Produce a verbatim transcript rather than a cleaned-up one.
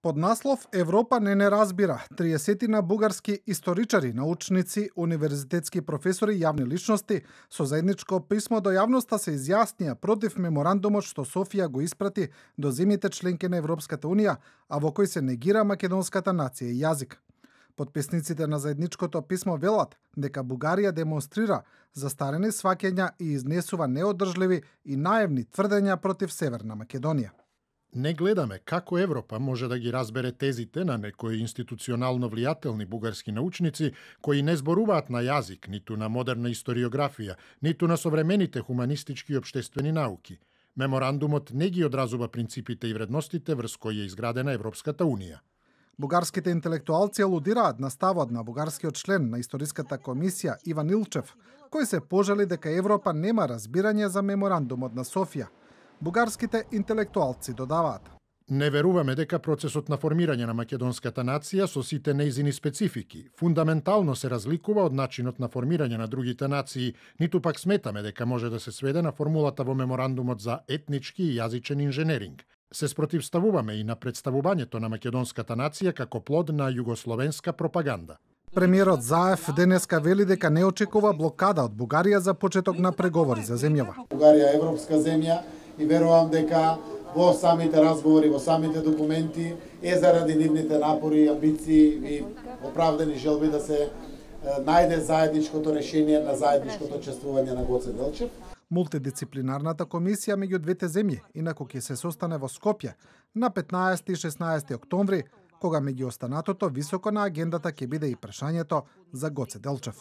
Под наслов Европа не не разбира, триесетина бугарски историчари, научници, универзитетски професори и јавни личности со заедничко писмо до јавноста се изјаснија против меморандумот што Софија го испрати до земјите членки на Европската унија, а во кој се негира македонската нација и јазик. Потписниците на заедничкото писмо велат дека Бугарија демонстрира застарени сваќања и изнесува неодржливи и наивни тврдења против Северна Македонија. Не гледаме како Европа може да ги разбере тезите на некои институционално влијателни бугарски научници кои не зборуваат на јазик, ниту на модерна историографија, ниту на современите хуманистички и општествени науки. Меморандумот не ги одразува принципите и вредностите врз кои е изградена Европската унија. Бугарските интелектуалци алудираат на ставот на бугарскиот член на Историската комисија Иван Илчев, кој се пожали дека Европа нема разбирање за меморандумот на Софија. Бугарските интелектуалци додаваат: Не веруваме дека процесот на формирање на македонската нација со сите нејзини специфики фундаментално се разликува од начинот на формирање на другите нации, ниту пак сметаме дека може да се сведе на формулата во меморандумот за етнички и јазичен инженеринг. Се спротивставуваме и на представувањето на македонската нација како плод на југословенска пропаганда. Премиерот Заев денеска вели дека не очекува блокада од Бугарија за почеток на преговори за земјава. Бугарија е европска земја и верувам дека во самите разговори, во самите документи е заради нивните напори, амбиции и оправдани желби да се најде заедничкото решение на заедничкото чествување на Гоце Делчев. Мултидисциплинарната комисија меѓу двете земји инаку ќе се состане во Скопје на петнаесети и шеснаесети октомври, кога меѓу останатото високо на агендата ќе биде и прашањето за Гоце Делчев.